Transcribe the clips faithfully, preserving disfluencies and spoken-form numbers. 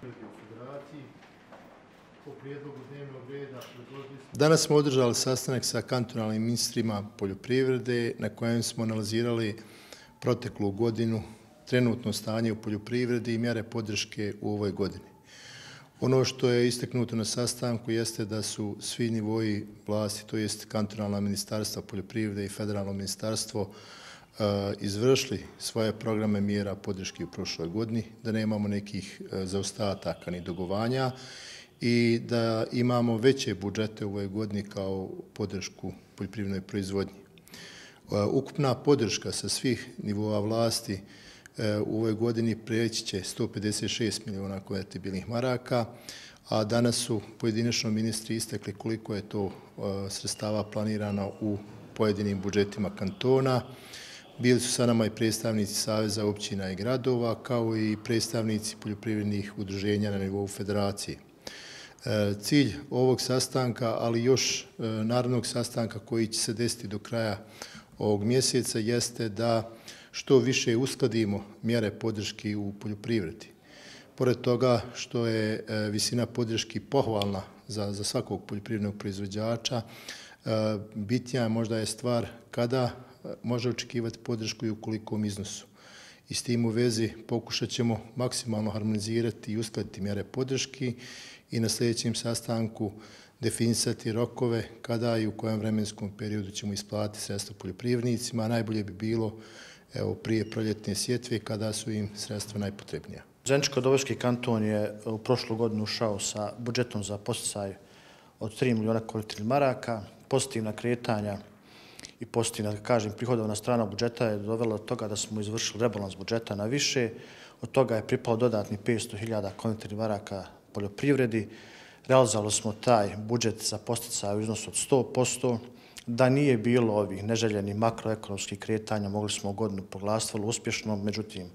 poljoprivrede u Federaciji. Po prijedlogu dnevnog reda predložili smo... Danas smo održali sastanak sa kantonalnim ministrima poljoprivrede na kojem smo analizirali proteklu godinu, trenutno stanje u poljoprivredi i mjere podrške u ovoj godini. Ono što je istaknuto na sastanku jeste da su svi nivoji vlasti, to jest kantonalna ministarstva poljoprivrede i federalno ministarstvo, izvršili svoje programe mjera podrške u prošloj godini, da nemamo nekih zaostataka ni dogovanja i da imamo veće budžete u ovoj godini kao podršku poljoprivrednoj proizvodnji. Ukupna podrška sa svih nivoa vlasti u ovoj godini prijeći će sto pedeset šest miliona konvertibilnih maraka, a danas su pojedinačno ministri istakli koliko je to sredstava planirano u pojedinim budžetima kantona. Bili su sa nama i predstavnici Saveza općina i gradova, kao i predstavnici poljoprivrednih udruženja na nivou federacije. Cilj ovog sastanka, ali još narednog sastanka koji će se desiti do kraja ovog mjeseca, jeste da što više uskladimo mjere podrške u poljoprivredi. Pored toga što je visina podrške pohvalna za, za svakog poljoprivrednog proizvođača, bitnija možda je stvar kada može očekivati podršku i u kolikom iznosu. I s tim u vezi pokušat ćemo maksimalno harmonizirati i uskladiti mjere podrške i na sljedećem sastanku definisati rokove kada i u kojem vremenskom periodu ćemo isplatiti sredstva poljoprivrednicima. Najbolje bi bilo evo, prije proljetne sjetve kada su im sredstva najpotrebnija. Zeničko-Dobojski kanton je u prošlu godinu ušao sa budžetom za podsticaj od tri miliona konvertibilnih maraka. Pozitivna kretanja i pozitivna, da kažem, prihodovna strana budžeta je dovela do toga da smo izvršili rebalans budžeta na više. Od toga je pripalo dodatni petsto hiljada konvertibilnih maraka poljoprivredi. Realizovali smo taj budžet za podsticaj u iznosu od sto posto. Da nije bilo ovih neželjenih makroekonomskih kretanja, mogli smo godinu proglasiti vrlo uspješno, međutim,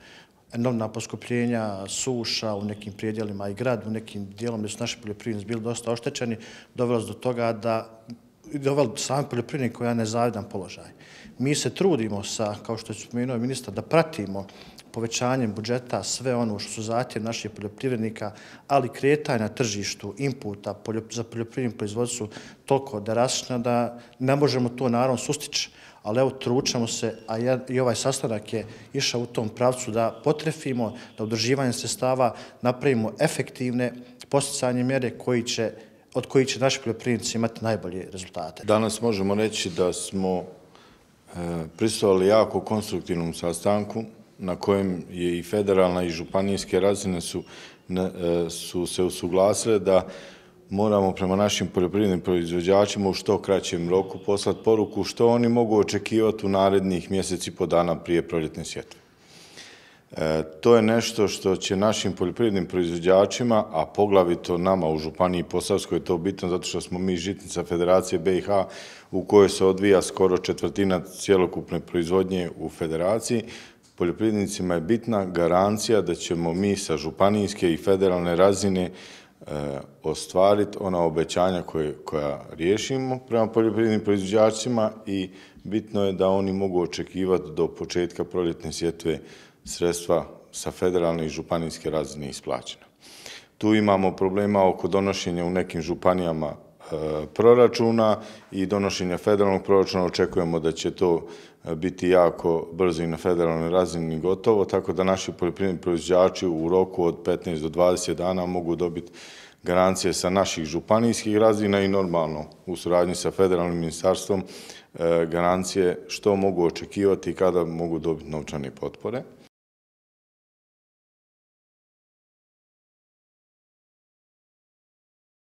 enormna poskupljenja, suša u nekim prijedjelima i grad, u nekim dijelom gdje su naši poljoprivrednici bili dosta oštećeni, dovelo do toga da doveli sami poljoprivrednik koji je nezavidan položaj. Mi se trudimo sa, kao što je spomenuo ministar, da pratimo povećanjem budžeta sve ono što su zahtjevi naših poljoprivrednika, ali kretanje na tržištu inputa za poljoprivrednu proizvodnju su toliko drastična da ne možemo to naravno sustići. Ali evo, tručamo se, a i ovaj sastanak je išao u tom pravcu da potrefimo, da udruživanjem sredstava napravimo efektivne podsticajne mjere koji će od kojih će naši poljoprivrednici imati najbolje rezultate. Danas možemo reći da smo e, prisustvovali jako konstruktivnom sastanku na kojem je i federalna i županijske razine su, ne, su se usuglasile da moramo prema našim poljoprivrednim proizvođačima u što kraćem roku poslati poruku što oni mogu očekivati u narednih mjeseci po dana prije proljetne sjetve. E, to je nešto što će našim poljoprivrednim proizvođačima, a poglavito nama u Županiji Posavskoj je to bitno zato što smo mi žitnica Federacije B i H u kojoj se odvija skoro četvrtina cjelokupne proizvodnje u Federaciji. Poljoprivrednicima je bitna garancija da ćemo mi sa županijske i federalne razine e, ostvariti ona obećanja koje, koja riješimo prema poljoprivrednim proizvođačima i bitno je da oni mogu očekivati do početka proljetne sjetve sredstva sa federalne i županijske razine isplaćena. Tu imamo problema oko donošenja u nekim županijama e, proračuna i donošenja federalnog proračuna. Očekujemo da će to biti jako brzo i na federalnoj razini gotovo, tako da naši poljoprivredni proizvođači u roku od petnaest do dvadeset dana mogu dobiti garancije sa naših županijskih razina i normalno u suradnji sa federalnim ministarstvom garancije što mogu očekivati i kada mogu dobiti novčane potpore.